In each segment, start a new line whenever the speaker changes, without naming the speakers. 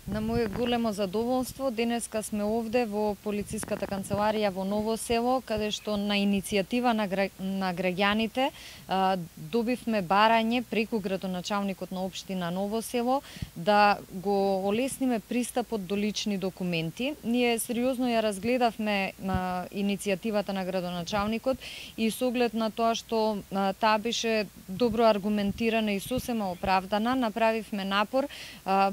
На моје големо задоволство, денеска сме овде во полициската канцеларија во Ново село, каде што на иницијатива на граѓаните добивме барање преку градоначалникот на општина Ново село да го олесниме пристапот до лични документи. Ние сериозно ја разгледавме иницијативата на градоначалникот и со оглед на тоа што таа беше добро аргументирана и сосема оправдана, направивме напор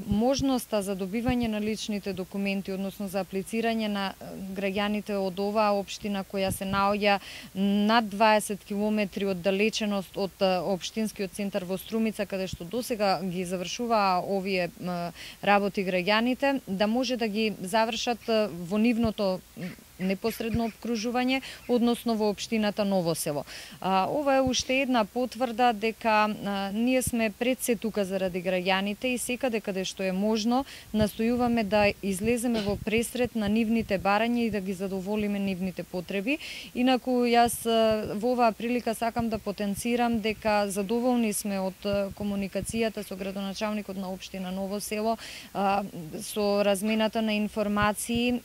можноста за добивање на личните документи, односно за аплицирање на граѓаните од оваа општина која се наоѓа над 20 километри оддалеченост од општинскиот центар во Струмица, каде што досега ги завршуваа овие работи граѓаните, да може да ги завршат во нивното непосредно обкружување, односно во општината Ново село. Ова е уште една потврда дека ние сме пред се тука заради граѓаните и секаде каде што е можно настојуваме да излеземе во пресрет на нивните барања и да ги задоволиме нивните потреби. Инаку јас во оваа прилика сакам да потенцирам дека задоволни сме од комуникацијата со градоначалникот на општина Ново село, со размената на информации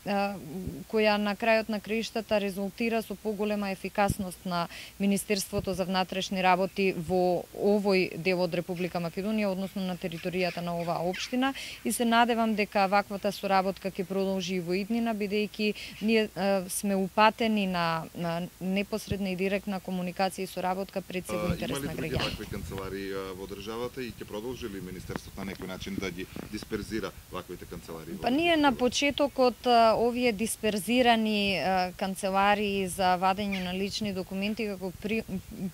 која на крајот на краиштата резултира со поголема ефикасност на Министерството за внатрешни работи во овој дел од Република Македонија, односно на територијата на оваа општина, и се надевам дека ваквата соработка ќе продолжи и во иднина, бидејќи ние сме упатени на непосредна и директна комуникација и соработка пред се во интерес на граѓаните.
Има ли други вакви канцеларии во државата и ќе продолжи ли Министерството на некој начин да ги дисперзира ваквите канцеларии?
Па ние на почетокот овие дисперзирани канцеларии за вадење на лични документи како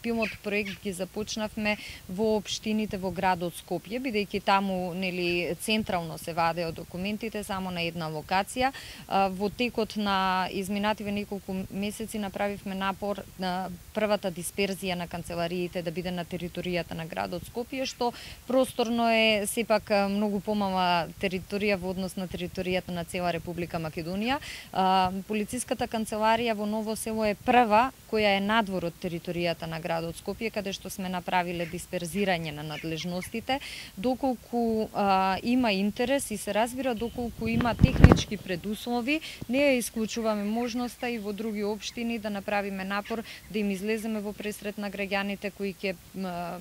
пилот проект ги започнавме во општините во градот Скопје, бидејќи таму нели централно се вадеа документите само на една локација. Во текот на изминативе неколку месеци направивме напор на првата дисперзија на канцелариите да биде на територијата на градот Скопје, што просторно е сепак многу помала територија во однос на територијата на цела Република Македонија. Полициската канцеларија во Ново село е прва која е надвор од територијата на градот Скопје, каде што сме направиле дисперзирање на надлежностите, доколку има интерес и се разбира доколку има технички предуслови, не ја исклучуваме можноста и во други општини да направиме напор да им излеземе во пресрет на граѓаните кои ќе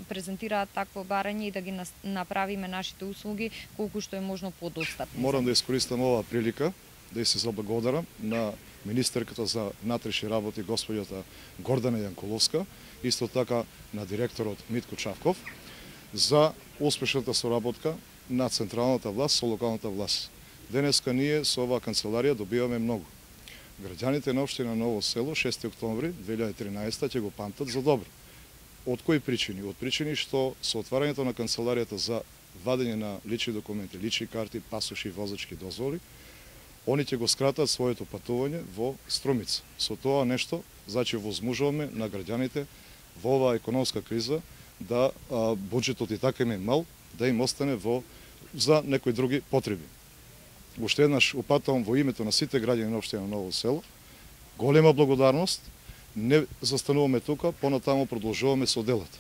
презентираат такво барање и да ги направиме нашите услуги колку што е можно подостапни.
Морам да искористам оваа прилика да се заблагодарам на министерката за внатрешни работи господјата Гордана Јанкуловска, исто така на директорот Митко Чавков, за успешната соработка на централната власт со локалната власт. Денеска ние со оваа канцеларија добиваме многу. Граѓаните на општина Ново село 6 октомври 2013 ќе го памтат за добро. Од кои причини? Од причини што со отварањето на канцеларијата за вадење на лични документи, лични карти, пасоши и возачки дозволи, они ќе го скратат своето патување во Струмица. Со тоа нешто, значи возможуваме на граѓаните во оваа економска криза да буџетот и така им е мал, да им остане за некои други потреби. Уште еднаш упатувам во името на сите граѓани на општина Ново село, голема благодарност, не застануваме тука, понатаму продолжуваме со делата.